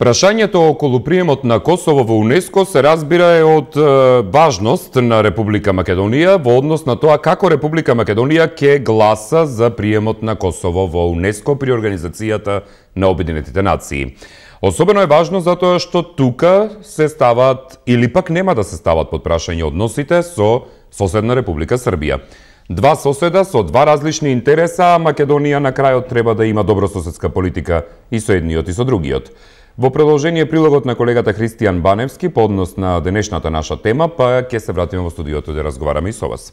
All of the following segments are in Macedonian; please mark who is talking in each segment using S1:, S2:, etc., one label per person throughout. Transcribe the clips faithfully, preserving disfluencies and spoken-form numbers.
S1: Прашањето околу приемот на Косово во УНЕСКО се разбира е од е, важност на Република Македонија во однос на тоа како Република Македонија ќе гласа за приемот на Косово во УНЕСКО при Организацијата на Обединетите нации. Особено е важно затоа што тука се стават или пак нема да се стават под прашање односите со соседна Република Србија. Два соседа со два различни интереса, а Македонија на крајот треба да има добрососедска политика и со едниот и со другиот. Во продолжение прилогот на колегата Христијан Баневски по однос на денешната наша тема, па ќе се вратиме во студиото да разговараме и со вас.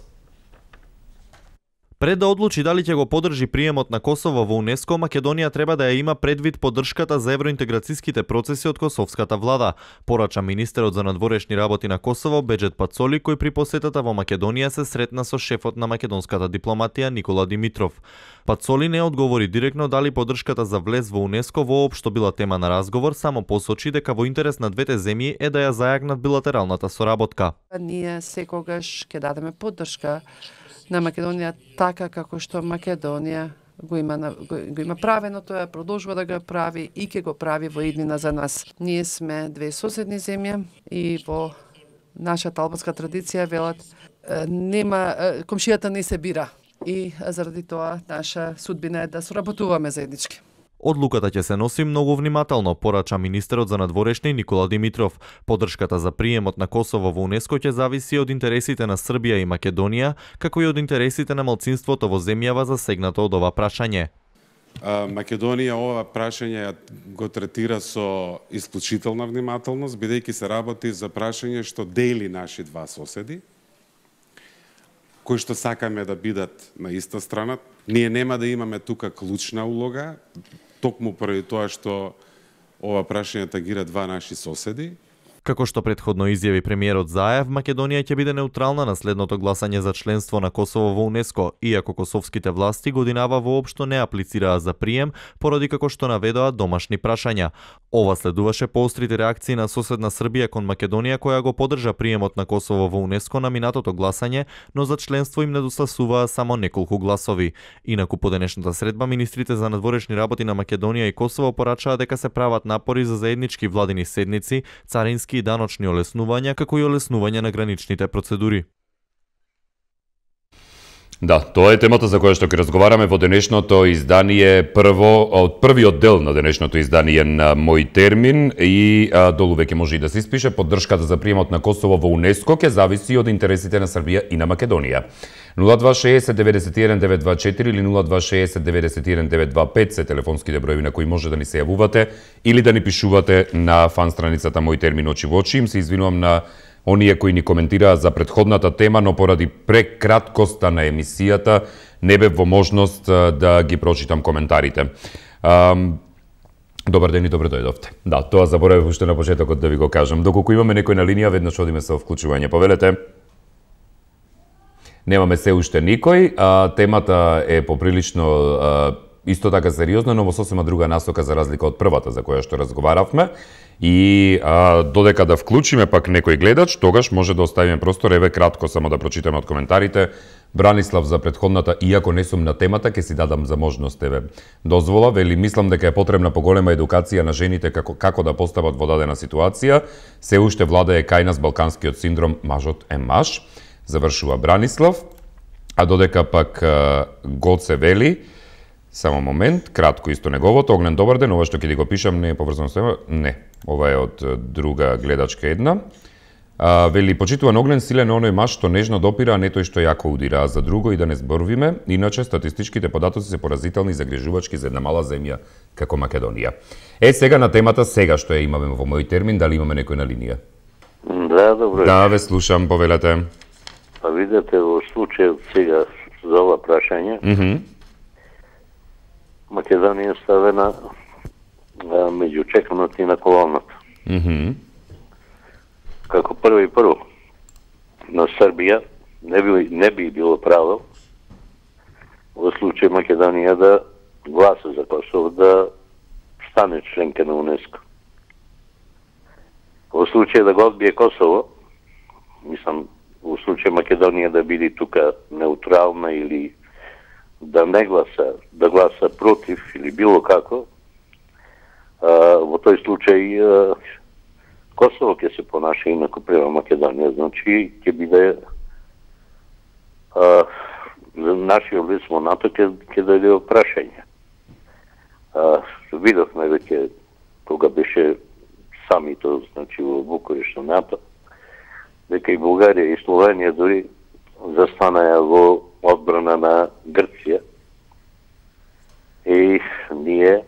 S2: Пред да одлучи дали ќе го поддржи приемот на Косово во УНЕСКО, Македонија треба да ја има предвид поддршката за евроинтеграцијските процеси од косовската влада, порача министерот за надворешни работи на Косово Беџет Пацоли, кој при посетата во Македонија се сретна со шефот на македонската дипломатија Никола Димитров. Пацоли не одговори директно дали поддршката за влез во УНЕСКО воопшто била тема на разговор, само посочи дека во интерес на двете земји е да ја зајакнат билатералната соработка.
S3: Ние секогаш ќе дадеме поддршка на Македонија така како што Македонија го има, го, го има правено, тоа продолжува да го прави и ќе го прави во иднина за нас. Ние сме две соседни земји и во нашата албанска традиција велат нема комшијата не се бира и заради тоа наша судбина е да соработуваме заеднички.
S2: Одлуката ќе се носи многу внимателно, порача министерот за надворешни Никола Димитров. Поддршката за приемот на Косово во УНЕСКО ќе зависи од интересите на Србија и Македонија, како и од интересите на малцинството во земјава засегнато од ова прашање.
S4: Македонија ова прашање го третира со исклучителна внимателност, бидејќи се работи за прашање што дели наши два соседи, кои што сакаме да бидат на иста страна. Ние нема да имаме тука клучна улога, токму поради тоа што ова прашање тагира два наши соседи.
S2: Како што претходно изјави премиерот Заев, Македонија ќе биде неутрална на следното гласање за членство на Косово во УНЕСКО, иако косовските власти годинава воопшто не аплицираа за прием, поради како што наведоа домашни прашања. Ова следуваше поострите реакции на соседна Србија кон Македонија, која го поддржа приемот на Косово во УНЕСКО на минатото гласање, но за членство им недостасуваа само неколку гласови. Инаку по денешната средба, министрите за надворешни работи на Македонија и Косово порачаа дека се прават напори за заеднички владини седници, царински и даночни олеснувања, како и олеснување на граничните процедури.
S1: Да, тоа е темата за која што ќе разговараме во денешното издание, прво од првиот дел на денешното издание на Мој термин и а, долу веќе може и да се испише поддршката за приемот на Косово во УНЕСКО ќе зависи од интересите на Србија и на Македонија. нула два шеесет деветдесет и еден девет два четири или нула два шеесет деветдесет и еден девет два пет се телефонските броеви на кои може да ни се јавувате или да ни пишувате на фан страницата Мој термин очи во очи. Им се извинувам на оние кои ни коментираа за претходната тема, но поради прекраткоста на емисијата не бев во можност да ги прочитам коментарите. Um, Добар ден и добро дојдовте. Да, тоа заборавив уште на почетокот да ви го кажам. Доколку имаме некој на линија, веднаш одиме со вклучување. Повелете. Немаме се уште никој. А, темата е поприлично а, исто така сериозна, но во сосема друга насока за разлика од првата за која што разговаравме. И а, додека да вклучиме пак некој гледач, тогаш може да оставиме простор. Еве кратко само да прочитаме од коментарите. Бранислав за претходната, иако не сум на темата, ќе си дадам за можност, еве, дозвола, вели, мислам дека е потребна поголема едукација на жените како, како да постават во дадена ситуација. Се уште влада е кај нас балканскиот синдром, мажот е маж. Завршува Бранислав. А додека пак а, Гоце вели, само момент, кратко исто неговото, Огнен, добар ден, ова што ќе ти го пишам не е поврзано со тоа, не, ова е од друга гледачка една. А, вели, почитуван Огнен, силен оној маж што нежно допира, а не тој што јако удира, а за друго и да не зборувиме, иначе статистичките податоци се поразителни и загрижувачки за една мала земја како Македонија. Е, сега на темата, сега што ја имаме во Мој термин, дали имаме некој на линија?
S5: Да, добро.
S1: Да, ве слушам, повелете.
S5: Па видете, во случајот сега за ова прашање,
S1: Mm -hmm.
S5: Македонија е ставена а, меѓу чеканата и на колоната.
S1: Mm -hmm.
S5: Како прво и прво, на Србија не би, не би било право во случај Македонија да гласа за Косово да стане членка на УНЕСКО. Во случај да го одбие Косово, мислам, во случај Македонија да биде тука неутрална или да не гласа, да гласа против или било како, во тој случај Косово ќе се понаша инаку према Македонија, значи ќе биде а, за нашиот лист во НАТО ќе ќе даде прашање. А, видовме веќе кога беше самито, значи во Букурешт на НАТО, дека и Бугарија и Словенија дури застанаја во одбрана на Грција и ние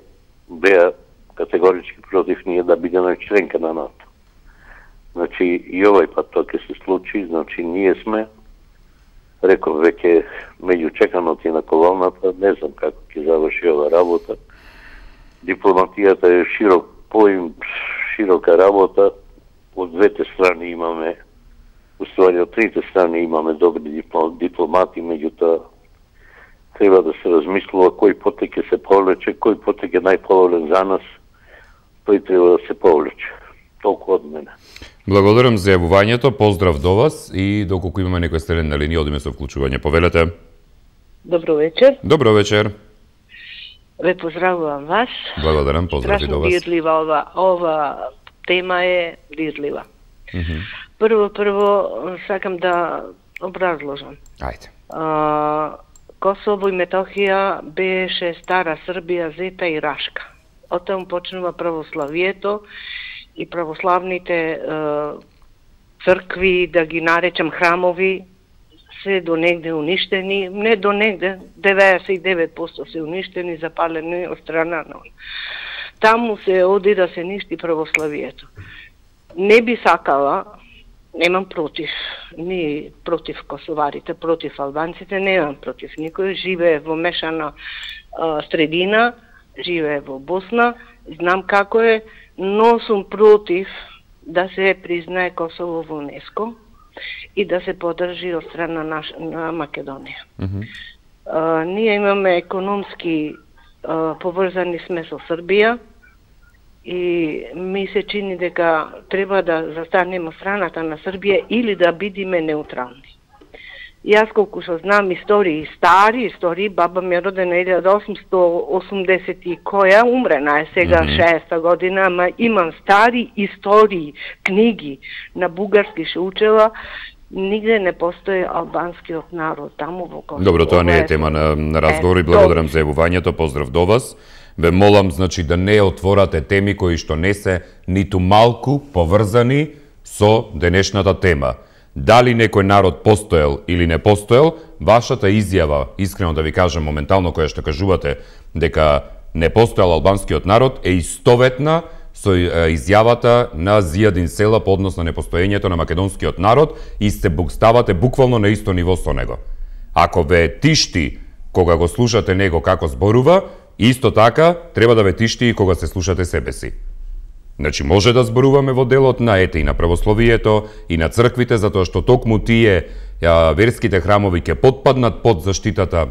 S5: беа категорички против ние да бидеме членка на НАТО. Значи и овој пат тоа ќе се случи, значи ние сме, реков веќе меѓу чеканото и на колоната, не знам како ќе заврши ова работа. Дипломатијата е широк поим, широка работа, од двете страни имаме, уствари од трите страни имаме добри дипломати, меѓутоа треба да се размислува кој потек ќе се повлече, кој потек е најповолен за нас, тој треба да се повлече. Толку од мене.
S1: Благодарам за јавувањето, поздрав до вас и доколку имаме некој стрелен на линија, одиме со вклучување. Повелете.
S6: Добро вечер.
S1: Добро вечер.
S6: Ве поздравувам вас.
S1: Благодарам, поздрав и до вас.
S6: Страшно дирлива ова, ова тема е дирлива.
S1: Mm -hmm.
S6: Прво, прво, сакам да образложам.
S1: Ајде.
S6: А, Косово и Метохија беше стара Србија, Зета и Рашка. Од таму почнува православието и православните е, цркви, да ги наречам храмови, се до негде уништени, не до негде, деветдесет и девет проценти се уништени, запалени од страна на он. Таму се оди да се ништи православието. Не би сакала, немам против, ни против косоварите, против албанците, немам против никој, живее во мешана а, средина, живее во Босна, знам како е, но сум против да се признае Косово во УНЕСКО и да се подржи од страна на, на Македонија. Mm -hmm. а, ние имаме економски а, поврзани сме со Србија и ми се чини дека треба да застанеме од страната на Србија или да бидиме неутрални. Јас колку што знам истории, стари истории, баба ми е родена илјада осумстотини осумдесет и која, умрена е сега mm -hmm. шеста година, ама имам стари истории, книги на бугарски ше учела, нигде не постои албанскиот народ таму во Косово.
S1: Добро, тоа не е тема на, на разговор и благодарам за јавувањето, поздрав до вас. Ве молам, значи, да не отворате теми кои што не се ниту малку поврзани со денешната тема. Дали некој народ постоел или не постоел, вашата изјава, искрено да ви кажам моментално, која што кажувате дека не постоел албанскиот народ, е истоветна со изјавата на Зијадин Села по однос на непостоењето на македонскиот народ и се ставате буквално на исто ниво со него. Ако ве тишти кога го слушате него како зборува, исто така треба да ве тишти и кога се слушате себе си. Значи, може да зборуваме во делот на ете и на православието и на црквите, затоа што токму тие ја, верските храмови ќе потпаднат под заштитата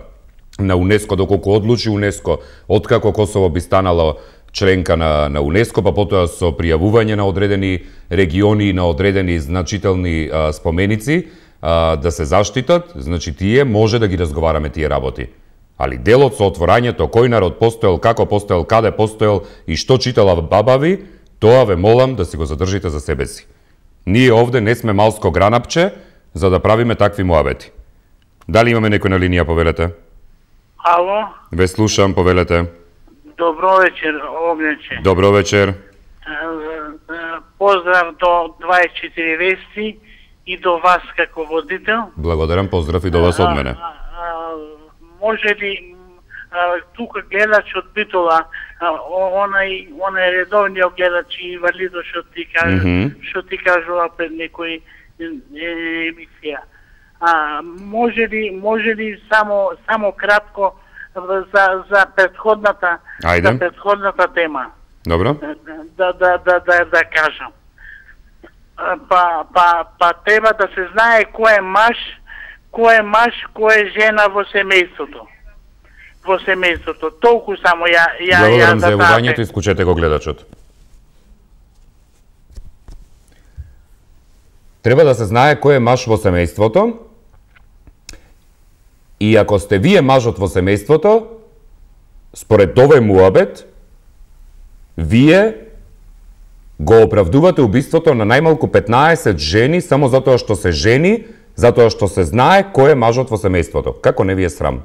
S1: на УНЕСКО, доколку одлучи УНЕСКО, откако Косово би станало членка на, на УНЕСКО, па потоа со пријавување на одредени региони и на одредени значителни а, споменици а, да се заштитат, значи тие може да ги разговараме тие работи. Али делот со отворањето, кој народ постоел, како постоел, каде постоел и што читала баба ви, тоа ве молам да си го задржите за себе си. Ние овде не сме малско гранапче за да правиме такви муабети. Дали имаме некој на линија, повелете?
S7: Ало?
S1: Ве слушам, повелете.
S7: Добро вечер, Огнече.
S1: Добро вечер.
S7: Поздрав до дваесет и четири вести и до вас како водител.
S1: Благодарам, поздрав и до вас од мене.
S7: А, а, може ли тука гледачот Битола, онај онај редовниот гледач и инвалидот што ти кажа, mm -hmm. што ти кажува пред некој емисија. А може ли може ли само само кратко за за претходната
S1: Ајде.
S7: за претходната тема.
S1: Добро.
S7: Да да да да да кажам. Па па па треба да се знае кој е маж, кој е маж, кој е жена во семејството. Во семејството. Толку само ја ја
S1: Благодарам
S7: ја
S1: за јавувањето, исклучете го гледачот. Треба да се знае кој е маж во семејството. И ако сте вие мажот во семејството, според овој муабет, Вие го оправдувате убиството на најмалку петнаесет жени само затоа што се жени, затоа што се знае кој е мажот во семејството. Како не ви е срам?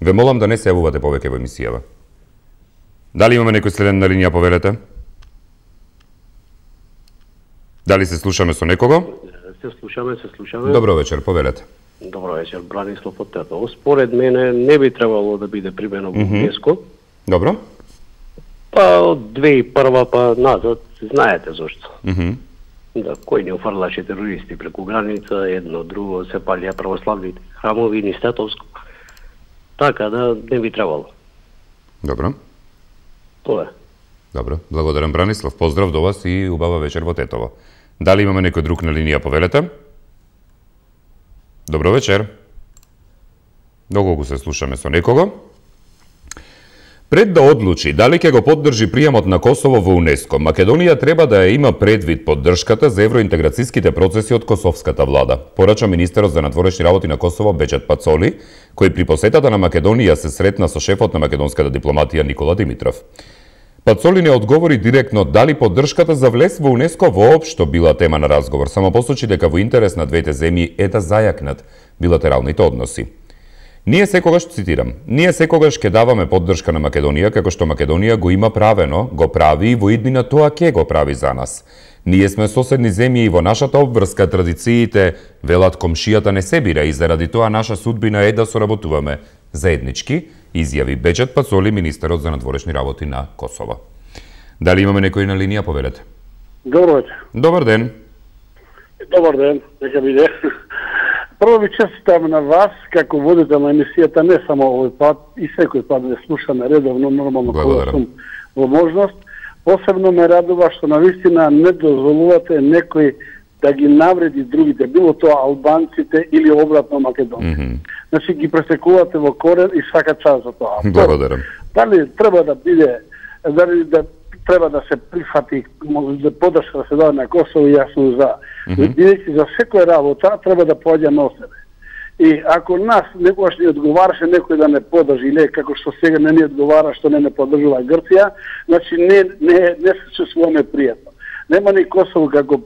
S1: Ве молам да не се јавувате повеќе во емисијава. Дали имаме некој следен на линија, повелете? Дали се слушаме со некого?
S8: Се слушаме, се слушаме.
S1: Добро вечер, повелете.
S8: Добро вечер, Бранислав од Тетово. Според мене не би требало да биде примено во ЮНЕСКО.
S1: Добро.
S8: Па од две и прва па назад, знаете зошто.
S1: Mm -hmm.
S8: Да, кој не офрлаше терористи преку граница, едно, друго, се палија православните храмови, ни Стетовско. Така да не би требало.
S1: Добро.
S8: Тоа е.
S1: Добро, благодарам Бранислав. Поздрав до вас и убава вечер во Тетово. Дали имаме некој друг на линија, повелете? Добро вечер. Доколку се слушаме со некого. Пред да одлучи дали ќе го поддржи приемот на Косово во УНЕСКО, Македонија треба да ја има предвид поддршката за евроинтеграцијските процеси од косовската влада, порача министерот за надворешни работи на Косово Беџет Пацоли, кој при посетата на Македонија се сретна со шефот на македонската дипломатија Никола Димитров. Пацоли не одговори директно дали поддршката за влез во УНЕСКО воопшто била тема на разговор, само посочи дека во интерес на двете земји е да зајакнат билатералните односи. Ние секогаш, цитирам, ние секогаш ќе даваме поддршка на Македонија, како што Македонија го има правено, го прави и во иднина тоа ќе го прави за нас. Ние сме соседни земји и во нашата обврска традициите, велат, комшијата не се бира и заради тоа наша судбина е да соработуваме заеднички, изјави Беџет Пацоли, министерот за надворешни работи на Косово. Дали имаме некој на линија, повелете?
S9: Добро вечер.
S1: Добар ден.
S9: Добар ден, нека биде. Прво ви честитам на вас како водител на емисијата, не само овој пат, и секој пат да слушаме редовно, нормално кога сум во можност. Посебно ме радува што навистина не дозволувате некој да ги навреди другите, било тоа албанците или обратно македонци. Mm -hmm. Значи ги пресекувате во корен и свака час за тоа.
S1: Благодарам.
S9: Дали треба да биде, дали да треба да се прифати, да поддршка да се даде на Косово, јас сум за. Бидејќи за секоја работа треба да поаѓа на себе. И ако нас некогаш не одговараше некој да не поддржи, или како што сега не ни одговара што не не поддржува Грција, значи не не не се чувствуваме пријатно. Нема ни Косово како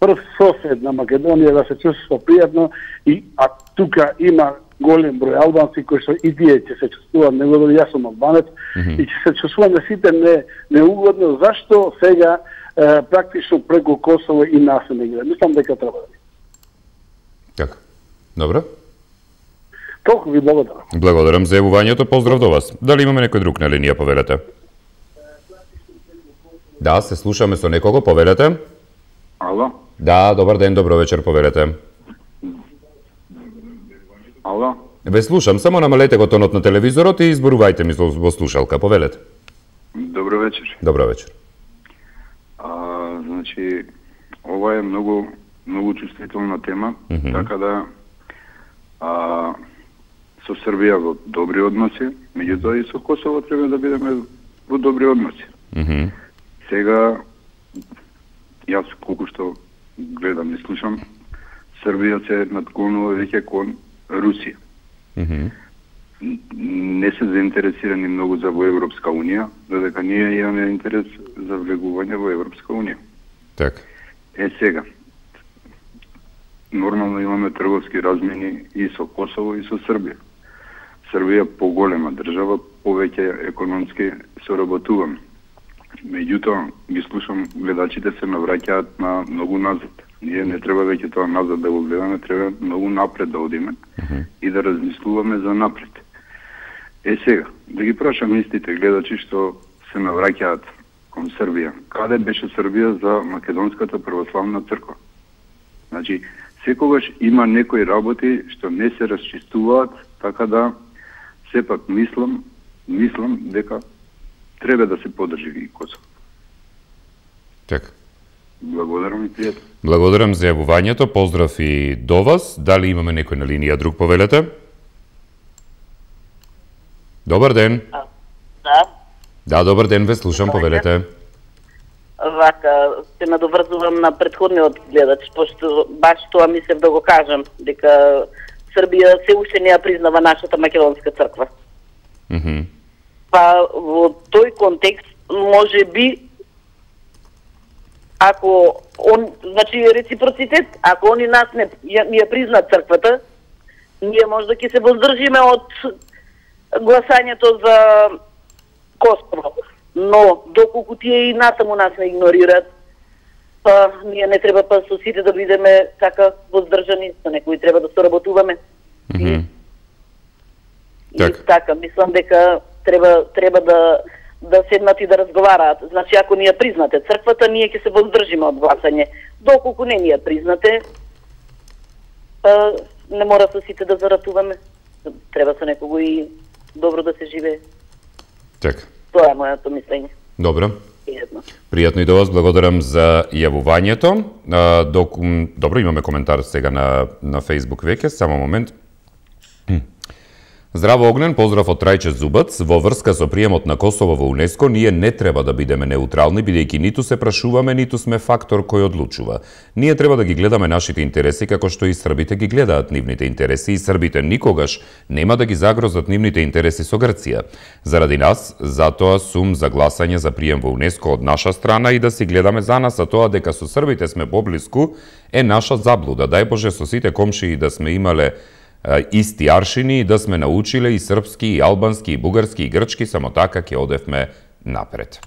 S9: прв сосед на Македонија да се чувствува пријатно, и а тука има голем број албанци кои што и тие ќе се чувствуваат неугодно, јас сум албанец, mm -hmm. и ќе се чувствуваме сите не неугодно, зашто сега е, практично преку Косово и нас не ги. Мислам дека треба да.
S1: Така. Добро.
S9: Толку ви благодарам.
S1: Благодарам за јавувањето, поздрав до вас. Дали имаме некој друг на линија, повелете? Да, се слушаме со некого, повелете.
S10: Ало?
S1: Да, добар ден, добро вечер, повелете.
S10: Ало?
S1: Ве слушам, само намалете го тонот на телевизорот и изборувајте ми во слушалка, повелете.
S10: Добро вечер.
S1: Добро вечер.
S10: А, значи, ова е многу многу чувствителна тема, mm -hmm. така да а, со Србија во добри односи, меѓутоа и со Косово треба да бидеме во добри односи.
S1: Mm -hmm.
S10: Сега, јас колку што гледам и слушам, Србија се надклонува веќе кон Русија.
S1: Mm -hmm.
S10: Не се заинтересирани многу за во Европска Унија, додека ние имаме интерес за влегување во Европска Унија.
S1: Така.
S10: Е сега, нормално имаме трговски размени и со Косово и со Србија. Србија поголема држава, повеќе економски соработуваме. Меѓутоа, ги слушам, гледачите се навраќаат на многу назад. Ние не треба веќе тоа назад да го гледаме, треба многу напред да одиме uh -huh. и да размислуваме за напред. Е сега, да ги прашам истите гледачи што се навраќаат кон Србија. Каде беше Србија за Македонската православна црква? Значи, секогаш има некои работи што не се расчистуваат, така да сепак мислам, мислам дека треба да се поддржи и Косово.
S1: Така.
S10: Благодарам и пријатно.
S1: Благодарам за јавувањето, поздрав и до вас. Дали имаме некој на линија друг, повелете? Добар ден.
S11: А, да.
S1: Да, добар ден, ве слушам, добар повелете. Ден.
S11: Вака, се надоврзувам на претходниот гледач, пошто баш тоа мислев да го кажам, дека Србија се уште не ја признава нашата македонска црква.
S1: Mm -hmm.
S11: Па во тој контекст може би ако он, значи реципроцитет, ако они нас не ни ја признат црквата, ние можда ќе се воздржиме од гласањето за Косово. Но доколку тие и насаму нас не игнорираат, па ние не треба па со сите да бидеме така воздржани, со некои треба да соработуваме.
S1: Mm -hmm.
S11: И, так. и така, мислам дека треба треба да да седнат и да разговараат. Значи, ако ни ја признате црквата, ние ќе се воздржиме од гласање. Доколку не ни ја признате, па не мора со сите да заратуваме. Треба со некого и добро да се живее.
S1: Така.
S11: Тоа е моето мислење.
S1: Добро.
S11: Пријатно.
S1: Пријатно и до вас, благодарам за јавувањето. А, док... Добро, имаме коментар сега на, на Facebook веќе, само момент. Здраво Огнен, поздрав од Трајче Зубац. Во врска со приемот на Косово во УНЕСКО, ние не треба да бидеме неутрални, бидејќи ниту се прашуваме, ниту сме фактор кој одлучува. Ние треба да ги гледаме нашите интереси како што и србите ги гледаат нивните интереси, и србите никогаш нема да ги загрозат нивните интереси со Грција. Заради нас, затоа сум за гласање за прием во УНЕСКО од наша страна и да си гледаме за нас, а тоа дека со србите сме поблиску е наша заблуда. Дај Боже со сите комшии да сме имале исти аршини, да сме научиле и српски, и албански, и бугарски, и грчки, само така ќе одевме напред.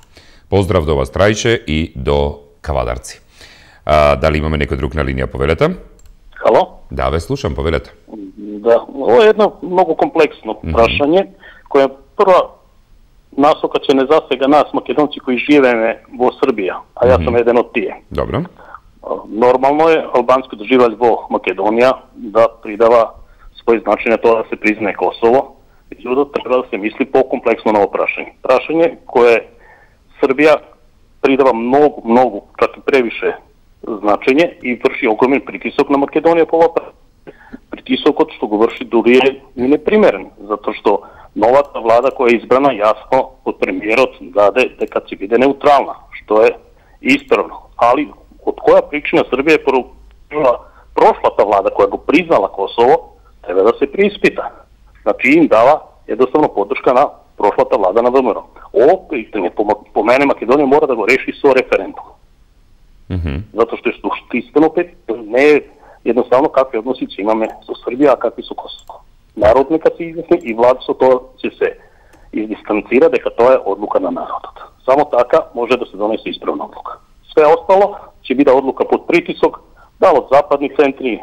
S1: Поздрав до вас, Трајче, и до Кавадарци. А, дали имаме некој друг на линија, повелете?
S12: Хало?
S1: Да, ве слушам, повелете.
S12: Да, ова е едно многу комплексно прашање, mm -hmm. кое прва насока ќе не засега нас, македонци, кои живееме во Србија, а јас mm -hmm. сум еден од тие.
S1: Добро.
S12: Нормално е албански доживеач во Македонија да придава свој значај на тоа да се признае Косово, меѓутоа треба да се мисли по-комплексно на ова прашање. Прашање кое Србија придава многу, многу, чак и превише значење и врши огромен притисок на Македонија по ова прашање. Притисокот што го врши дури е непримерен, затоа што новата влада која е избрана јасно од премиерот даде дека ќе биде неутрална, што е исправно. Али од која причина Србија е прошлата влада која го признала Косово, треба да се преиспита. Значи им дава едноставно поддршка на прошлата влада на ВМРО. Ово питање по, по мене Македонија мора да го реши со референдум.
S1: Mm -hmm.
S12: Затоа што е суштинствено не е едноставно какви односи ќе имаме со Србија, а какви со Косово. Народ нека се изјасни и влада со тоа ќе се издистанцира дека тоа е одлука на народот. Само така може да се донесе исправна одлука. Све остало ќе биде одлука под притисок, да од западни центри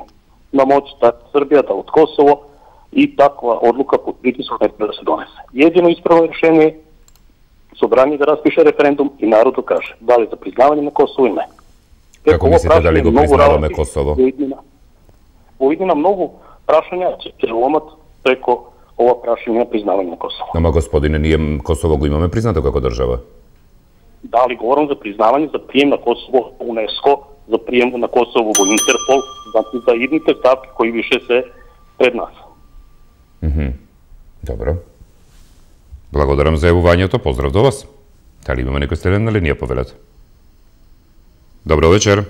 S12: на моќ, да Србија, да од Косово, и таква одлука под притисок не треба да се донесе. Едино исправно решение е собрание да распише референдум и народот каже дали за признавање на Косово или не.
S1: Како мислите дали го признаваме Косово?
S12: Во иднина многу прашања ќе ломат преко ова прашање на признавање на Косово.
S1: Ама господине, ние Косово го имаме признато како држава?
S12: Дали говорам за признавање за прием на Косово во УНЕСКО, за прием на Косово во Интерпол, значи за идните стапки кои више се пред нас.
S1: Mm -hmm. Добро. Благодарам за јавувањето, поздрав до вас. Дали имаме некој следен на линија, повелете? Добро вечер.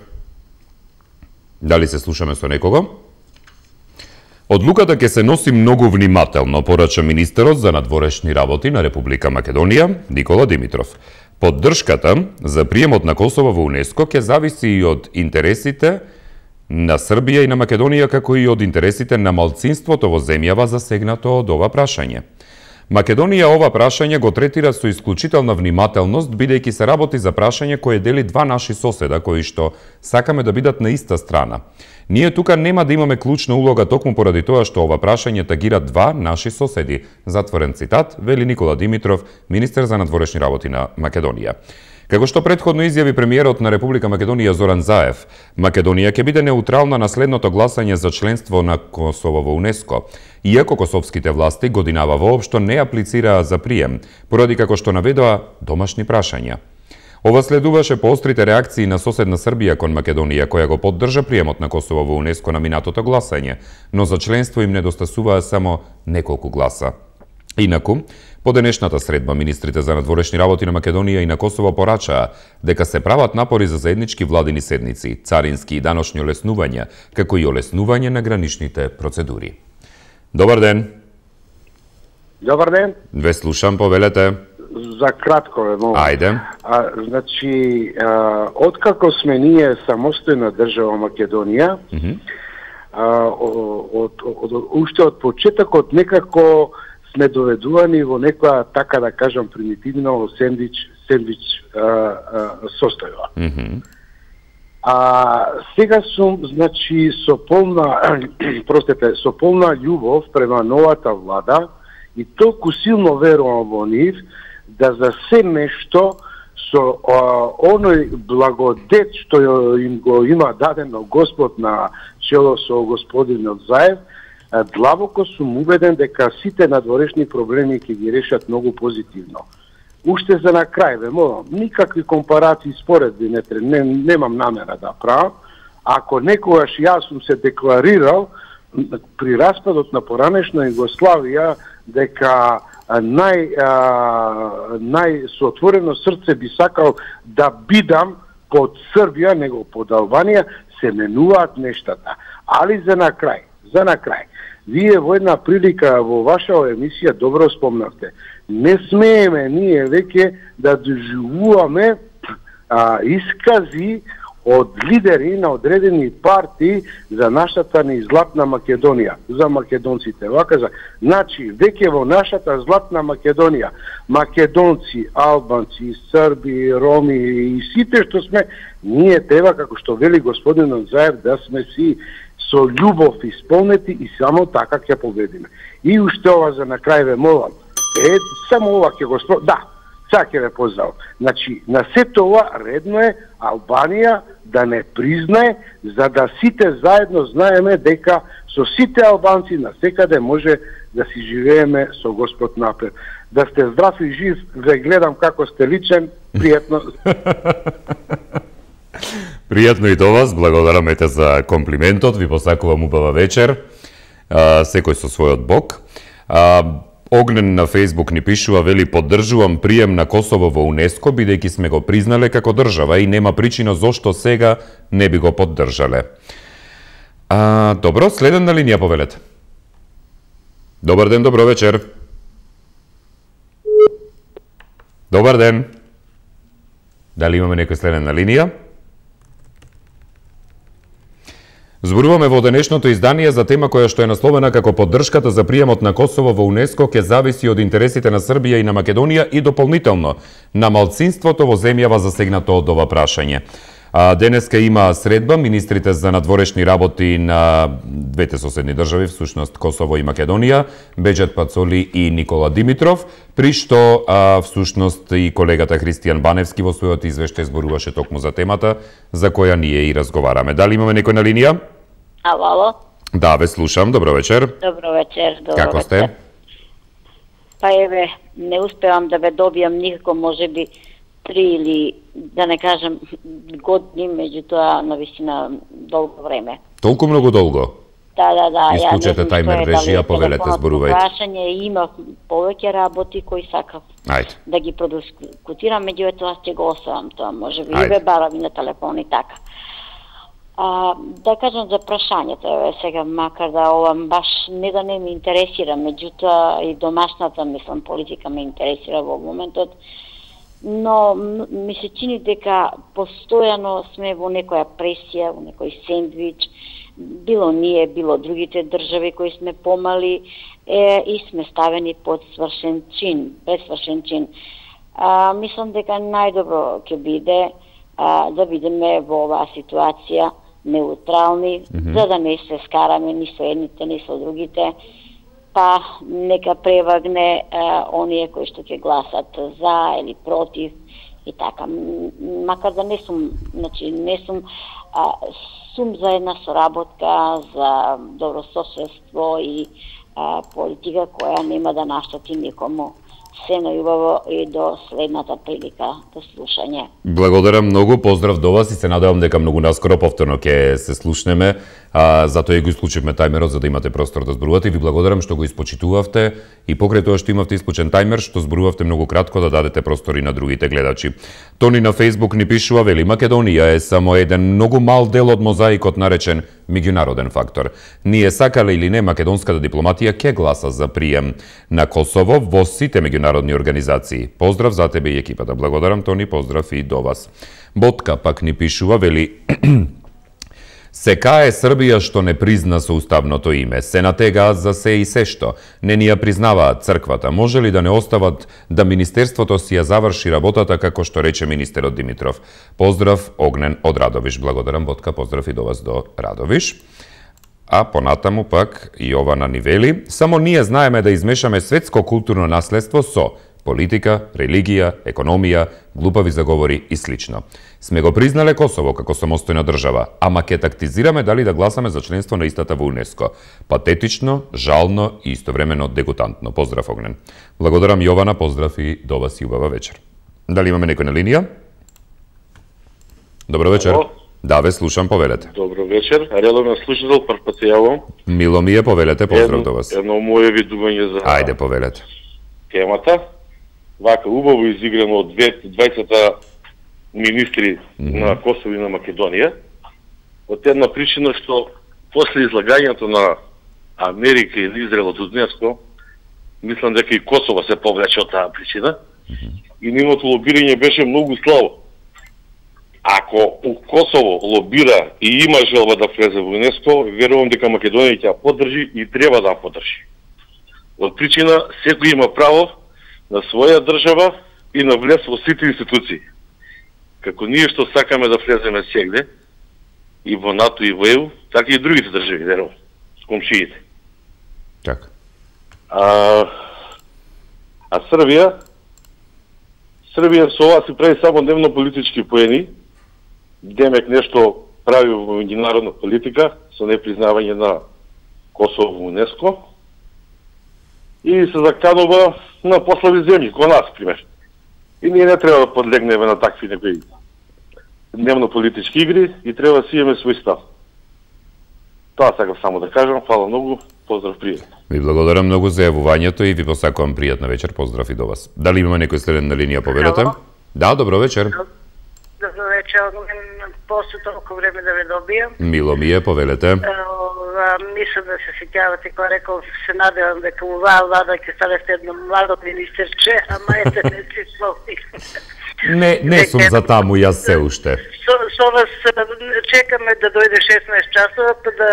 S1: Дали се слушаме со некого? Одлуката ќе се носи многу внимателно, порача министерот за надворешни работи на Република Македонија, Никола Димитров. Поддршката за приемот на Косово во УНЕСКО ќе зависи и од интересите на Србија и на Македонија, како и од интересите на малцинството во земјава засегнато од ова прашање. Македонија ова прашање го третира со исклучителна внимателност, бидејќи се работи за прашање кое дели два наши соседа, кои што сакаме да бидат на иста страна. Ние тука нема да имаме клучна улога токму поради тоа што ова прашање тагира два наши соседи. Затворен цитат, вели Никола Димитров, министер за надворешни работи на Македонија. Како што претходно изјави премиерот на Република Македонија Зоран Заев, Македонија ќе биде неутрална на следното гласање за членство на Косово во УНЕСКО, иако косовските власти годинава воопшто не аплицираа за прием, поради како што наведоа домашни прашања. Ова следуваше поострите реакции на соседна Србија кон Македонија, која го поддржа приемот на Косово во УНЕСКО на минатото гласање, но за членство им недостасуваа само неколку гласа. Инаку, по денешната средба, министрите за надворешни работи на Македонија и на Косово порачаа дека се прават напори за заеднички владини седници, царински и даношни олеснувања, како и олеснување на граничните процедури. Добар ден!
S13: Добар ден!
S1: Ве слушам, повелете.
S13: за кратко, но
S1: Ајде.
S13: А, значи, а, откако сме ние самостојна држава Македонија, mm -hmm. а, од, од, од, уште од почетокот некако сме доведувани во некоја, така да кажам, примитивно сендвич, сендвич а, а, состојба.
S1: Mm -hmm.
S13: А сега сум, значи, со полна, простете, со полна љубов према новата влада и толку силно верувам во нив, да за се нешто со а, оној благодет што им го има дадено Господ на чело со господинот Заев, длабоко сум убеден дека сите надворешни проблеми ќе ги решат многу позитивно. Уште за на крај, ве молам, никакви компарации споредби не, не, немам намера да правам. Ако некогаш јас сум се декларирал при распадот на поранешна Југославија дека нај, а, нај со отворено срце би сакал да бидам под Србија, него под Албанија, се менуваат нештата. Али за на крај, за на крај, вие во една прилика во ваша емисија добро спомнавте. Не смееме ние веќе да доживуваме а, искази од лидери на одредени партии за нашата ни златна Македонија, за македонците. Вака за, значи, веќе во нашата златна Македонија, македонци, албанци, срби, роми и сите што сме, ние треба, како што вели господинот Заев, да сме си со љубов исполнети и само така ќе победиме. И уште ова за на крај ве молам. Е, само ова ќе го спро... Да, сега ќе ве поздравам. Значи, на сето ова редно е Албанија да не признае, за да сите заедно знаеме дека со сите албанци на секаде може да си живееме со Господ напред. Да сте здрав и жив, ве гледам како сте личен, пријатно.
S1: Пријатно и до вас, благодараме те за комплиментот, ви посакувам убава вечер, а, секој со својот бог. А, Огнен на Фейсбук ни пишува, вели, поддржувам прием на Косово во УНЕСКО, бидејќи сме го признале како држава и нема причина зошто сега не би го поддржале. А, добро, следен на линија повелете. Добар ден, добро вечер. Добар ден. Дали имаме некој следен на линија? Зборуваме во денешното издание за тема која што е насловена како поддршката за приемот на Косово во УНЕСКО ќе зависи од интересите на Србија и на Македонија и дополнително на малцинството во земјава засегнато од ова прашање. А, денеска има средба министрите за надворешни работи на двете соседни држави, всушност Косово и Македонија, Беџет Пацоли и Никола Димитров, при што а, всушност и колегата Христијан Баневски во својот извештај зборуваше токму за темата за која ние и разговараме. Дали имаме некој на линија?
S14: Ало, ало.
S1: Да, ве слушам. Добро вечер.
S14: Добро вечер. Добро
S1: Како
S14: вечер.
S1: сте?
S14: Па еве, не успевам да ве добијам никако, можеби три или, да не кажам, години, меѓутоа, навистина, долго време.
S1: Толку многу долго?
S14: Да, да, да.
S1: Исклучете тајмер режија, повелете, зборувајте.
S14: Прашање, има повеќе работи кои сакав
S1: Ајде.
S14: да ги продискутирам, меѓутоа ќе го оставам тоа, можеби
S1: Ајде.
S14: и ве барам и на телефон и така. А, да кажам за прашањето, еве сега, макар да ова баш не да не ме интересира, меѓутоа и домашната, мислам, политика ме интересира во моментот, но ми се чини дека постојано сме во некоја пресија, во некој сендвич, било ние, било другите држави кои сме помали е, и сме ставени под свршен чин, без свршен чин. А, мислам дека најдобро ќе биде а, да бидеме во оваа ситуација неутрални, mm-hmm. за да не се скараме ни со едните, ни со другите, па нека превагне а, оние кои што ќе гласат за или против и така. Макар да не сум, значи не сум а, сум за една соработка, за добрососедство и а, политика која нема да наштати никому. Се најубаво и до следната прилика до слушање.
S1: Благодарам многу, поздрав до вас и се надевам дека многу наскоро повторно ќе се слушнеме А, затоа и го исклучивме тајмерот за да имате простор да зборувате и ви благодарам што го испочитувавте и покрај тоа што имавте исклучен тајмер што зборувавте многу кратко да дадете простор и на другите гледачи. Тони на Facebook ни пишува, вели, Македонија е само еден многу мал дел од мозаикот наречен меѓународен фактор. Ние сакале или не, македонската дипломатија ќе гласа за прием на Косово во сите меѓународни организации. Поздрав за тебе и екипата. Благодарам, Тони, поздрав и до вас. Ботка пак ни пишува, вели, се кае Србија што не призна соуставното име, се натегаат за се и се што, не ни ја признаваат црквата, може ли да не остават да Министерството си ја заврши работата како што рече министерот Димитров. Поздрав, Огнен од Радовиш. Благодарам, Ботка, поздрав и до вас до Радовиш. А понатаму пак и ова на нивели, само ние знаеме да измешаме светско културно наследство со политика, религија, економија, глупави заговори и слично. Сме го признале Косово како самостојна држава, ама ќе тактизираме дали да гласаме за членство на истата во УНЕСКО. Патетично, жално и истовремено дегутантно. Поздрав, Огнен. Благодарам, Јована, поздрав и до вас и убава вечер. Дали имаме некој на линија? Добро вечер.
S15: Ало.
S1: Да, ве слушам, повелете.
S15: Добро вечер. Редовен слушател, прв пат се јавам.
S1: Мило ми е, повелете, поздрав до вас.
S15: Едно моје видување за
S1: Ајде, повелете.
S15: темата. Вака убаво изиграно од дваесетта министри mm -hmm. на Косово и на Македонија. Од една причина што после излагањето на Америка и на Израел од УНЕСКО, мислам дека и Косово се повлече од таа причина. Mm -hmm. И нивното лобирање беше многу слабо. Ако у Косово лобира и има желба да влезе во УНЕСКО, верувам дека Македонија ќе ја поддржи и треба да ја поддржи. Од причина секој има право на своја држава и на влез во сите институции. Како ние што сакаме да влеземе сегде, и во НАТО и во Е У, така и другите држави, верувам, комшиите.
S1: Така.
S15: А, а Србија, Србија со ова си прави само дневно политички поени, демек нешто прави во меѓународна политика, со непризнавање на Косово во УНЕСКО, и се заканува на послави земји, кој нас, пример. И ние не треба да подлегнеме на такви некои дневно политички игри и треба да си имаме свој став. Тоа сакам само да кажам, фала многу, поздрав, пријатно.
S1: Ви благодарам многу за јавувањето и ви посакувам пријатна вечер, поздрав и до вас. Дали имаме некој следен на линија, повелете? Да, добро вечер.
S16: Добро вечер, после толку време да ве добијам.
S1: Мило ми е, повелете.
S16: Мислам да се сеќавате кога рекол, се надевам дека оваа влада ќе стане едно младо министерче, ама ете не си слови.
S1: Не, не сум за таму јас се уште.
S16: Со, со вас чекаме да дојде шеснаесет часова, па да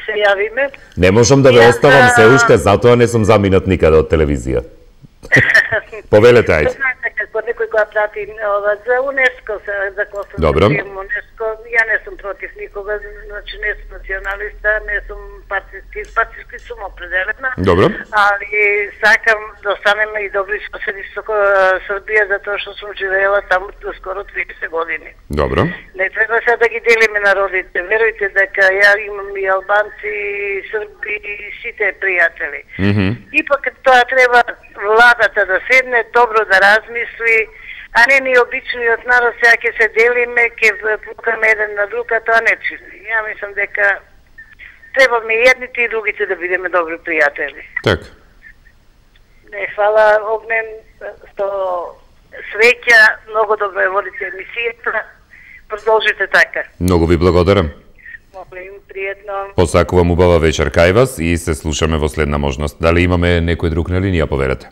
S16: се јавиме.
S1: Не можам да ве оставам се уште, затоа не сум заминат никаде од телевизија. Повелете, ајде.
S16: Знаете како некој која прати ова за УНЕСКО, за Косово,
S1: Добро.
S16: УНЕСКО, ја не сум против никога, значи не сум националиста, не сум партиски, партиски сум определена.
S1: Добро.
S16: Али сакам да останеме и добри соседи со Србија, затоа што сум живеела таму скоро триесет години.
S1: Добро.
S16: Не треба се да ги делиме народите. Верујте дека ја имам и албанци, и срби, и сите пријатели.
S1: Mm -hmm.
S16: И пак тоа треба владата да седне, добро да размисли, а не ни обичниот народ сега ќе се делиме, ќе пукаме еден на друг, а тоа не чини. Ја мислам дека требаме и едните и другите да бидеме добри пријатели.
S1: Така.
S16: Не, фала, Огнен, што среќа, многу добро ја водите емисијата, продолжите така.
S1: Многу ви благодарам.
S16: Молим, пријатно.
S1: Посакувам убава вечер кај вас и се слушаме во следна можност. Дали имаме некој друг на линија, повелете?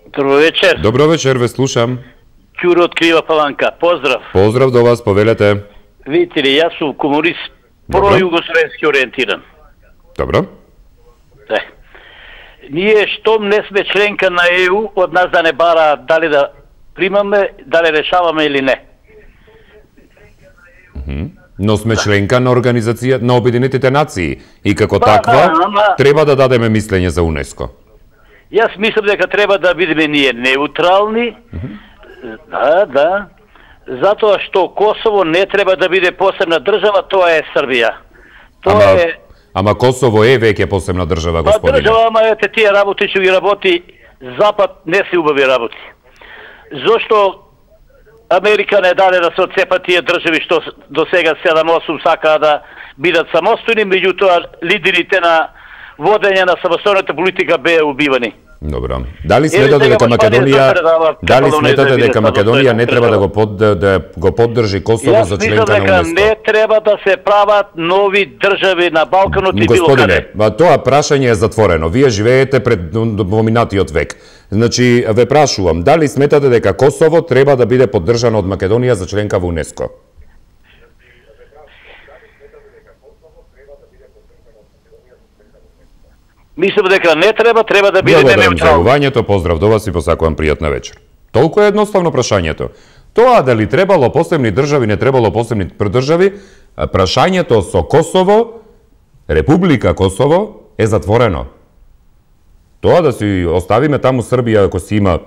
S17: Добро вечер.
S1: Добро вечер, ве слушам.
S17: Ќуро од Крива Паланка. Поздрав.
S1: Поздрав до вас, повелете.
S17: Видите ли, јас сум комунист, про-југословенски ориентиран.
S1: Добро.
S17: Е. Ние штом не сме членка на Е У, од нас да не бара дали да примаме, дали решаваме или не.
S1: Но сме членка на Организација на Обединетите нации и како
S17: Ба,
S1: таква
S17: да, ама-
S1: треба да дадеме мислење за УНЕСКО.
S17: Јас мислам дека треба да бидеме ние неутрални, да, да, затоа што Косово не треба да биде посебна држава, тоа е Србија. Тоа
S1: Ама,
S17: е
S1: ама Косово е веќе посебна држава,
S17: па
S1: господине.
S17: држава, ама ете тие работи што ги работи Запад не се убави работи. Зошто Америка не даде да се отцепат тие држави што до сега седам осум сакаа да бидат самостојни, меѓутоа лидерите на водење на самостојната политика беа убивани.
S1: Добро. Дали сметате дека Македонија Дали сметате дека Македонија не треба да го под да го поддржи Косово за членка на УНЕСКО?
S17: Не треба да се прават нови држави на Балканот и било каде.
S1: Господине, тоа прашање е затворено. Вие живеете пред поминатиот век. Значи, ве прашувам, дали сметате дека Косово треба да биде поддржано од Македонија за членка во УНЕСКО?
S17: Мислам дека не треба, треба да биде неутрално.
S1: Благодарам за јавувањето, поздрав до вас и посакувам пријатна вечер. Толку е едноставно прашањето. Тоа дали требало посебни држави, не требало посебни држави, прашањето со Косово, Република Косово, е затворено. Тоа да си оставиме таму Србија ако си има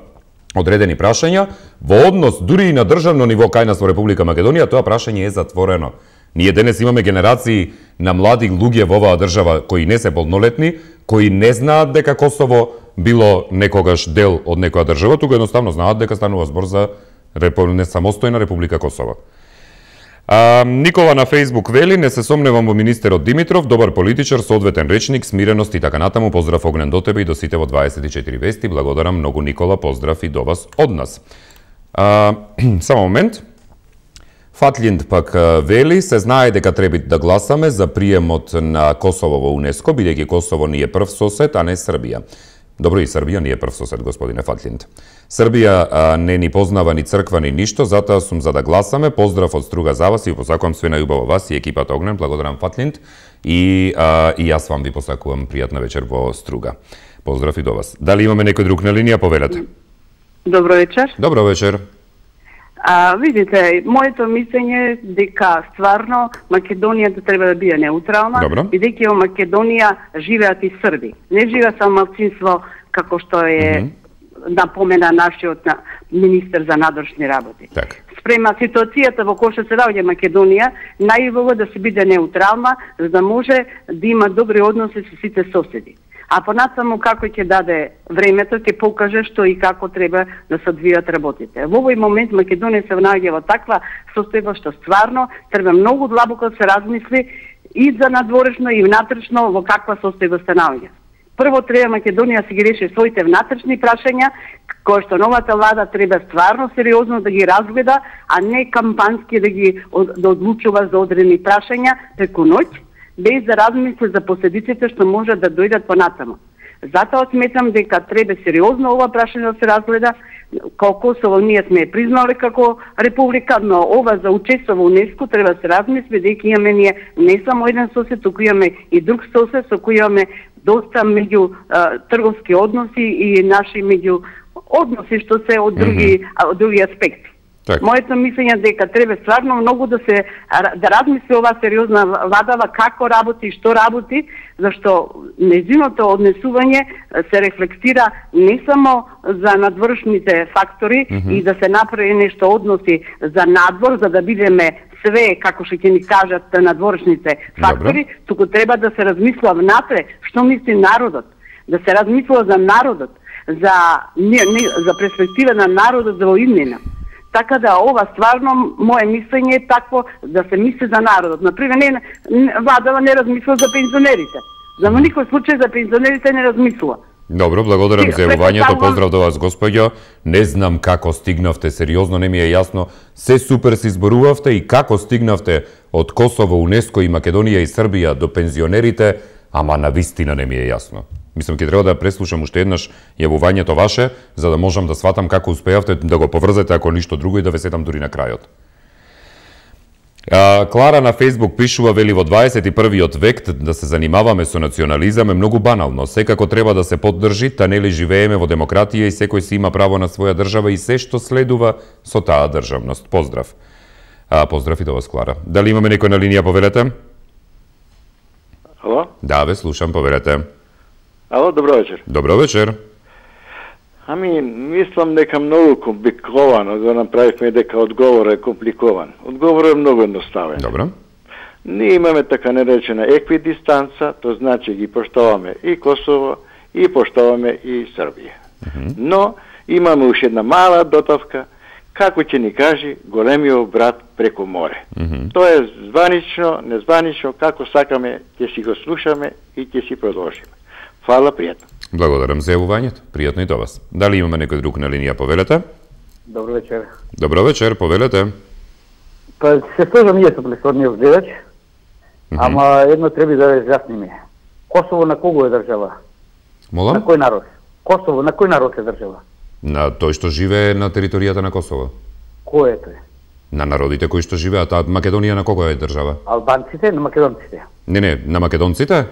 S1: одредени прашања, во однос дури и на државно ниво кај нас во Република Македонија, тоа прашање е затворено. Ние денес имаме генерации на млади луѓе во оваа држава кои не се полнолетни, кои не знаат дека Косово било некогаш дел од некоја држава, туку едноставно знаат дека станува збор за несамостојна Република Косово. А, Никола на Фејсбук вели, не се сомневам во министерот Димитров, добар политичар со одветен речник, смиреност и така натаму. Поздрав огнен до тебе и до сите во дваесет и четири вести. Благодарам многу, Никола, поздрав и до вас од нас. А, само момент. Фатлинд пак вели, се знае дека треба да гласаме за приемот на Косово во УНЕСКО, бидејќи Косово ни е прв сосед, а не Србија. Добро, и Србија ни е прв сосед, господине Фатлинд. Србија а, не ни познава ни црква ни ништо, затоа сум за да гласаме. Поздрав од Струга за вас и посакувам све најубаво вас и екипата Огнен. Благодарам, Фатлинд. И, а, и јас вам ви посакувам пријатна вечер во Струга. Поздрав и до вас. Дали имаме некој друг на линија? Повелете.
S18: Добро вечер.
S1: Добро вечер.
S18: А, видите, моето мислење е дека стварно Македонија да треба да биде неутрална, бидејќи во Македонија живеат и срби. Не живеат само малцинство како што е mm -hmm. напомена нашиот на министер за надворешни работи.
S1: Так.
S18: Спрема ситуацијата во која се наоѓа Македонија, најубаво да се биде неутрална, за да може да има добри односи со сите соседи. А понатаму како ќе даде времето, ќе покаже што и како треба да се одвијат работите. Во овој момент Македонија се наоѓа во таква состојба што стварно треба многу длабоко да се размисли и за надворешно и внатрешно во каква состојба се наоѓа. Прво треба Македонија да си ги реши своите внатрешни прашања, кои што новата влада треба стварно сериозно да ги разгледа, а не кампански да ги да одлучува за одредени прашања преку ноќ, без да размисли за последиците што може да дојдат понатаму. Затоа сметам дека треба сериозно ова прашање да се разгледа. Колку Косово ние сме признали како република, но ова за учество во УНЕСКО треба да се размисли, дека имаме ние не само еден сосед, туку имаме и друг сосед со кој имаме доста меѓу а, трговски односи и наши меѓу односи што се од други mm -hmm. од други аспекти. Так. Моето мислење е дека треба стварно многу да се да размисли ова сериозна владава како работи и што работи, зашто нејзиното однесување се рефлектира не само за надворешните фактори mm -hmm. и да се направи нешто односи за надвор, за да бидеме све како што ќе ни кажат надворешните фактори, Добре. туку треба да се размисла внатре што мисли народот, да се размисла за народот, за не, не, за перспектива на народот за воиднина. Така да ова стварно мое мислење е такво да се мисли за народот. Например, не, владава не размисла за пензионерите. За никој случај за пензионерите не размислува.
S1: Добро, благодарам за јавувањето. Поздрав до вас, господјо. Не знам како стигнавте, сериозно не ми е јасно. Се супер се изборувавте и како стигнавте од Косово, УНЕСКО и Македонија и Србија до пензионерите, ама на вистина не ми е јасно. Мислам, ќе треба да преслушам уште еднаш јавувањето ваше, за да можам да сватам како успеавте да го поврзете, ако ништо друго, и да ве сетам дури на крајот. А, Клара на Фејсбук пишува, вели, во дваесет и првиот век да се занимаваме со национализам е многу банално. Секако треба да се поддржи, та нели живееме во демократија и секој си има право на своја држава и се што следува со таа државност. Поздрав. А, поздрав и до вас, Клара. Дали имаме некој на линија, повелете?
S19: Ало?
S1: Да, ве слушам, повелете.
S19: Ало, добро вечер.
S1: Добро вечер.
S19: Ами, мислам дека многу компликовано да направивме дека одговорот е компликован. Одговорот е многу едноставен.
S1: Добро.
S19: Ние имаме така наречена еквидистанца, тоа значи ги поштоваме и Косово, и поштоваме и Србија. Mm -hmm. Но имаме уште една мала дотавка, како ќе ни кажи големиот брат преку море.
S1: Mm -hmm.
S19: Тоа е званично, незванично, како сакаме, ќе си го слушаме и ќе си продолжиме. Фала, пријатно.
S1: Благодарам за јавувањето. Пријатно и до вас. Дали имаме некој друг на линија, повелете?
S20: Добро вечер.
S1: Добро вечер, повелете.
S20: Па се сложам ние со претходниот гледач, mm -hmm. ама едно треба да разјасниме. Косово на кого е држава?
S1: Молам?
S20: На кој народ? Косово на кој народ е држава?
S1: На тој што живее на територијата на Косово.
S20: Кој е тој?
S1: На народите кои што живеат, а Македонија на кого е држава?
S20: Албанците, на македонците.
S1: Не, не, на македонците?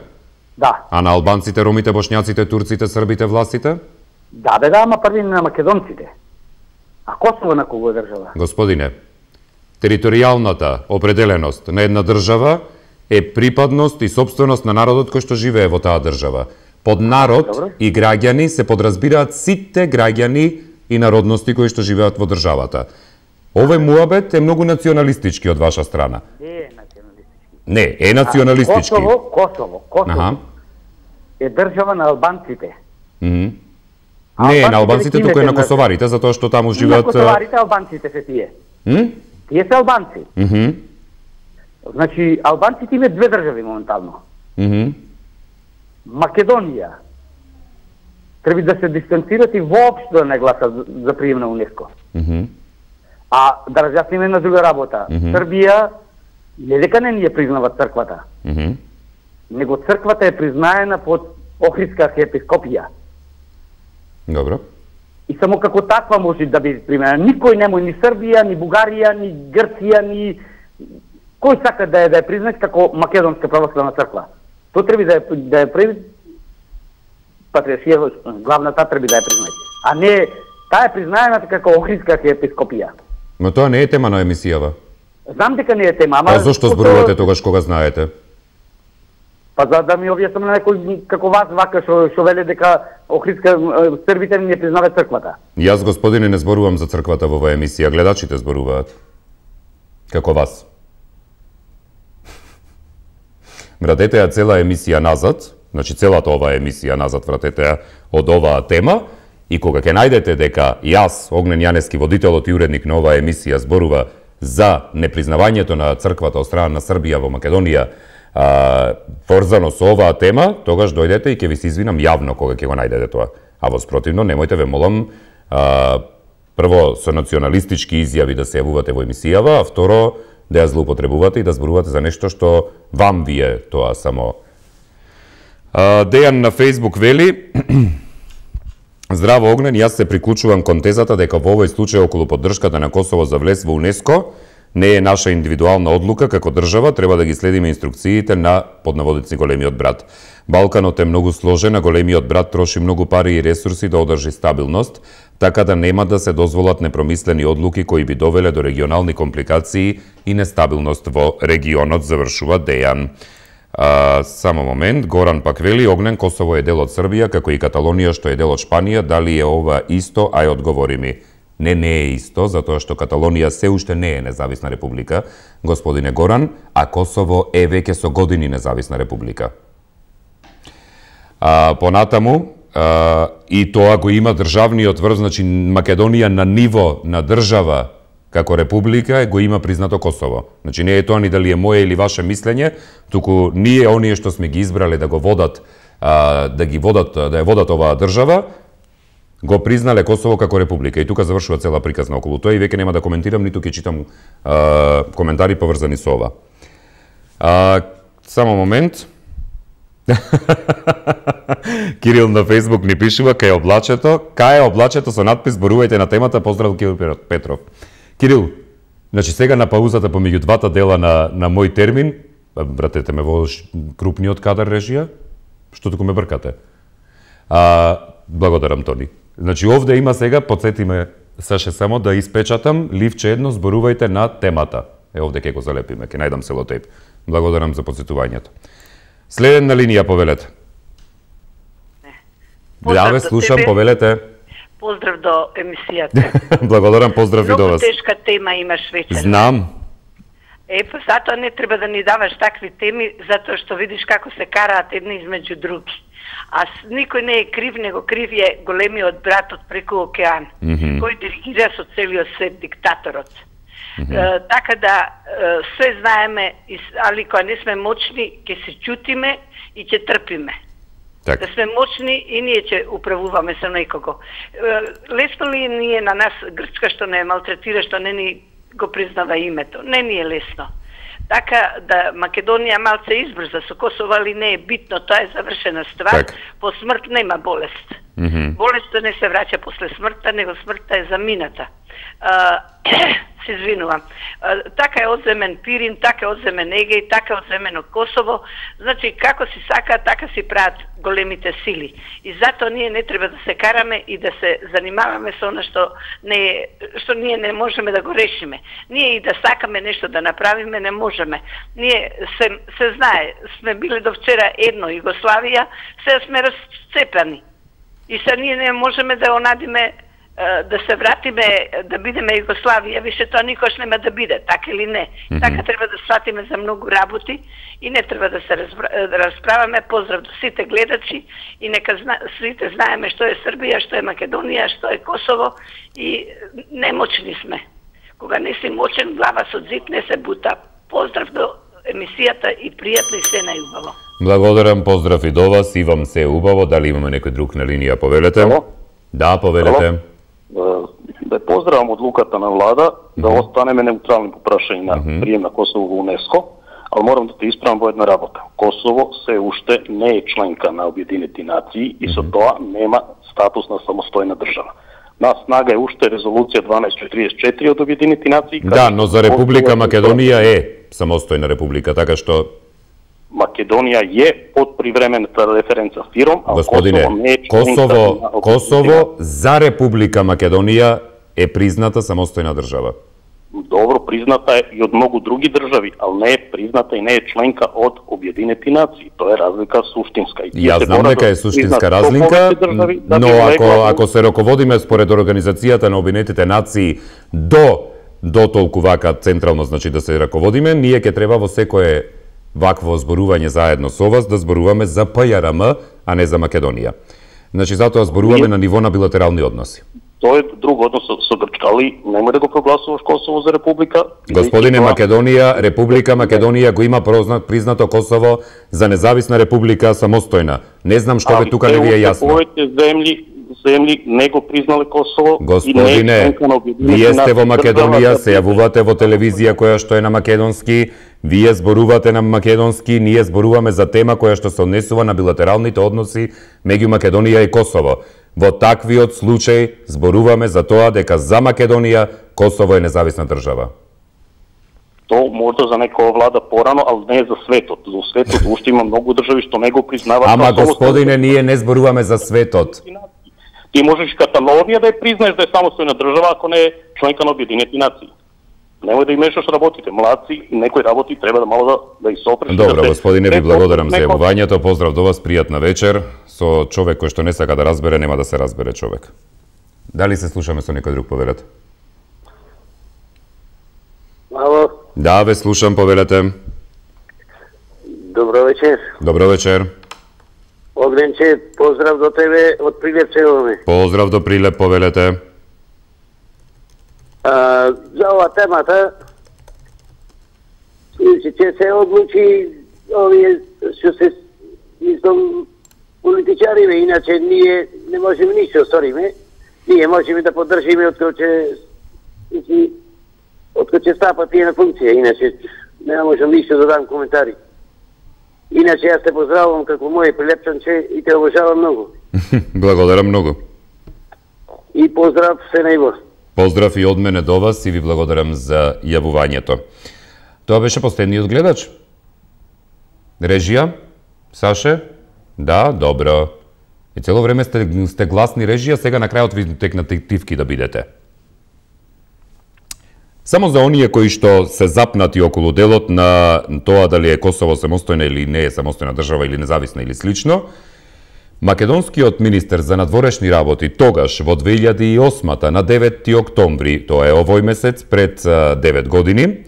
S20: Да.
S1: А на албанците, ромите, бошњаците, турците, србите, властите?
S20: Да, бе, да, ама први на македонците. А Косово на кого е држава?
S1: Господине, територијалната определеност на една држава е припадност и собственост на народот кој што живее во таа држава. Под народ Добре. И граѓани се подразбираат сите граѓани и народности кои што живеат во државата. Овој муабет е многу националистички од ваша страна.
S20: Не е националистички.
S1: Не, е националистички.
S20: А, Косово, Косово, Косово
S1: Аха.
S20: е држава на албанците.
S1: Mm -hmm. Не е на албанците, туку е на косоварите, затоа што таму живеат...
S20: На косоварите албанците се тие.
S1: Mm?
S20: Тие се албанци.
S1: Mm -hmm.
S20: Значи, албанците имаат две држави моментално.
S1: Mm -hmm.
S20: Македонија треба да се дистанцират и воопшто да не гласат за прием на УНЕСКО.
S1: Mm -hmm.
S20: А да разјасниме на друга работа. Mm -hmm. Србија не дека не ни ја признава црквата,
S1: mm -hmm.
S20: него црквата е признаена под Охридска архиепископија.
S1: Добро.
S20: И само како таква може да биде примена. Никој нема ни Србија, ни Бугарија, ни Грција, ни кој сака да е да е признат како Македонска православна црква. Тоа треба да е да е прави патриаршија, главната треба да е признат. А не таа е признаена како Охридска архиепископија.
S1: Но тоа не е тема на емисијава.
S20: Знам дека не е тема, ама...
S1: А зошто зборувате тогаш кога знаете?
S20: Па за да ми објаснам на некој како вас вака што што веле дека Охридска србите не признаваат црквата.
S1: Јас, господине, не зборувам за црквата во оваа емисија, гледачите зборуваат. Како вас. Вратете ја цела емисија назад, значи целата оваа емисија назад вратете ја од оваа тема, и кога ќе најдете дека јас, Огнен Јаневски, водителот и уредник на оваа емисија, зборува за непризнавањето на црквата од страна на Србија во Македонија, а, поврзано со оваа тема, тогаш дојдете и ќе ви се извинам јавно кога ќе го најдете тоа. А во спротивно, немојте ве молам, а, прво со националистички изјави да се јавувате во емисијава, а второ да ја злоупотребувате и да зборувате за нешто што вам вие тоа само. А, Дејан на Фејсбук вели: Здраво, Огнен, јас се приклучувам кон тезата дека во овој случај околу поддршката на Косово за влез во УНЕСКО не е наша индивидуална одлука, како држава треба да ги следиме инструкциите на поднаводици големиот брат. Балканот е многу сложен, а големиот брат троши многу пари и ресурси да одржи стабилност, така да нема да се дозволат непромислени одлуки кои би довеле до регионални компликации и нестабилност во регионот, завршува Дејан. А, само момент, Горан пак вели: Огнен, Косово е дел од Србија, како и Каталонија што е дел од Шпанија, дали е ова исто? Ај, одговори ми. Не, не е исто, затоа што Каталонија се уште не е независна република, господине Горан, а Косово е веќе со години независна република. А, понатаму, а, и тоа го има државниот врв, значи Македонија на ниво на држава како република го има признато Косово. Значи не е тоа ни дали е моје или ваше мислење, туку ние оние што сме ги избрале да го водат, а, да ги водат, да ја водат оваа држава, го признале Косово како република. И тука завршува цела приказна околу тоа и веќе нема да коментирам, ниту ќе читам а, коментари поврзани со ова. А, само момент. Кирил на Фејсбук ни пишува: кај облачето, кај облачето со надпис зборувајте на темата, поздрав Кирил Петров. Кирил, значи сега на паузата помеѓу двата дела на, на мој термин, вратете ме во крупниот кадар режија, што туку ме бркате. А, благодарам, Тони. Значи овде има сега, подсети ме Саше само да испечатам ливче едно, зборувајте на темата. Е, овде ќе го залепиме, ќе најдам селотейп. Благодарам за подсетувањето. Следен на линија, повелете. Да, ве слушам, тебе. Повелете.
S21: Поздрав до емисијата.
S1: Благодарам, поздрав и до вас.
S21: Многу тешка тема имаш вечер.
S1: Знам.
S21: Е, па затоа не треба да ни даваш такви теми, затоа што видиш како се караат едни измеѓу други. А никој не е крив, него крив е големиот брат од преку океан, mm -hmm. кој диригира со целиот свет, диктаторот. Mm -hmm. е, така да е, све знаеме, али кога не сме мочни, ќе се чутиме и ќе трпиме. Так. Да сме мочни и ние ќе управуваме со некого. Е, лесно ли ние на нас Грчка што не малтретира, што не ни го признава името? Не ни е лесно. Така да Македонија малце избрза со Косово, али не е битно, тоа е завршена ствар. Так. По смрт нема болест. Mm -hmm. Болеста не се враќа после смртта, него смртта е замината. А, се извинувам. А, така е одземен Пирин, така е одземен Егеј, така е одземено Косово. Значи, како си сака, така си прават големите сили. И затоа ние не треба да се караме и да се занимаваме со она што не што ние не можеме да го решиме. Ние и да сакаме нешто да направиме, не можеме. Ние се, се знае, сме били до вчера едно Југославија, сега сме расцепани. И сега ние не можеме да онадиме да се вратиме, да бидеме Југославија, више тоа никош нема да биде, така или не. Mm -hmm. Така треба да сватиме за многу работи и не треба да се расправаме. Поздрав до сите гледачи и нека зна, сите знаеме што е Србија, што е Македонија, што е Косово и немочни сме. Кога не си мочен, глава со зид не се бута. Поздрав до емисијата и пријатно и се најубаво.
S1: Благодарам, поздрав и до вас, и вам се убаво. Дали имаме некој друг на линија, повелете? Ало? Да, повелете. Ало?
S12: Да поздравам одлуката на влада mm -hmm. да останеме неутрални по прашање на mm -hmm. прием на Косово во УНЕСКО, ali moram da te ispravim во една работа. Косово се уште не е членка на Обединети нации и со тоа нема статус на самостојна држава. На снага е уште резолуција дванаесет четириесет и четири од Обединети нации.
S1: Да, но за Република Македонија е самостојна република, така што
S12: Македонија е под привремената референца ФИРОМ, а
S1: Господине,
S12: Косово не е
S1: Косово, Косово за Република Македонија е призната самостојна држава.
S12: Добро, призната е и од многу други држави, ali не е призната и не е членка од Објединети нации. Тоа е разлика суштинска. И
S1: Ја знам дека е суштинска разлика, држави, да но ако, ако се раководиме според Организацијата на Обединетите нации до до толку вака централно, значи да се раководиме, ние ќе треба во секое вакво зборување заедно со вас да зборуваме за ПЈРМ, а не за Македонија. Значи затоа зборуваме на ниво на билатерални односи.
S12: Тоа е друг однос со, со Грчка, али немој да го прогласуваш Косово за република.
S1: Господине, това... Македонија, Република Македонија го има признато Косово за независна република, самостојна. Не знам што бе тука не ви е јасно.
S12: Повеќе земји, земји не го признале Косово.
S1: Господине, вие сте во Македонија, се јавувате во телевизија која што е на македонски, вие зборувате на македонски, ние зборуваме за тема која што се однесува на билатералните односи меѓу Македонија и Косово. Во таквиот случај зборуваме за тоа дека за Македонија Косово е независна држава.
S12: То можда за некоја влада порано, ali не за светот. За светот уште има многу држави што не го признаваат.
S1: Ама господине, ние не зборуваме за светот.
S12: Ти можеш Каталонија да ја признаеш да е самостојна држава ако не е членка на Обединети нации. Немој да имешаш работите, младци и некои работи треба да мало да да исопреш.
S1: Добро, да господине, ви благодарам за јавувањето. Поздрав до вас, пријатна вечер. Со човек кој што не сака да разбере, нема да се разбере човек. Дали се слушаме со некој друг, повелете?
S3: Ало.
S1: Да, ве слушам, повелете.
S3: Добро вечер.
S1: Добро вечер.
S3: Огненче, поздрав до тебе од Прилеп Цевоме.
S1: Поздрав до Прилеп, повелете.
S3: А, за ова темата ќе се одлучи овие што се мислам политичариве, иначе ние не можеме ништо сториме. Ние можеме да поддржиме откако ќе откако ќе стапат тие на функција, иначе не можам ништо да дам коментари. Иначе јас те поздравувам како мој прилепчанче и те обожавам многу.
S1: Благодарам многу.
S3: И поздрав се најбор.
S1: Поздрав и од мене до вас и ви благодарам за јавувањето. Тоа беше последниот гледач. Режија? Саше? Да, добро. И цело време сте, сте гласни режија, сега на крајот ви текна тивки да бидете. Само за оние кои што се запнати околу делот на тоа дали е Косово самостојна или не е самостојна држава или независна или слично, македонскиот министер за надворешни работи тогаш во две илјади и осма на деветти октомври, тоа е овој месец пред девет години,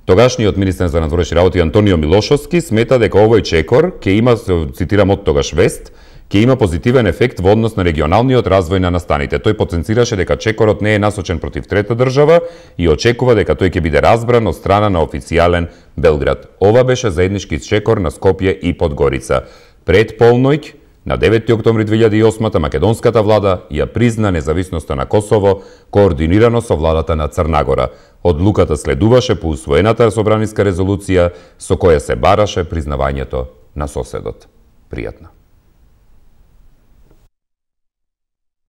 S1: тогашниот министер за надворешни работи Антонио Милошовски смета дека овој чекор ќе има, цитирам од тогаш вест, ќе има позитивен ефект во однос на регионалниот развој на настаните. Тој потенцираше дека чекорот не е насочен против трета држава и очекува дека тој ќе биде разбран од страна на официјален Белград. Ова беше заеднички чекор на Скопје и Подгорица. Пред полноќ, на деветти октомври две илјади и осма македонската влада ја призна независноста на Косово координирано со владата на Црнагора. Одлуката следуваше по усвоената собраниска резолуција со која се бараше признавањето на соседот. Пријатно.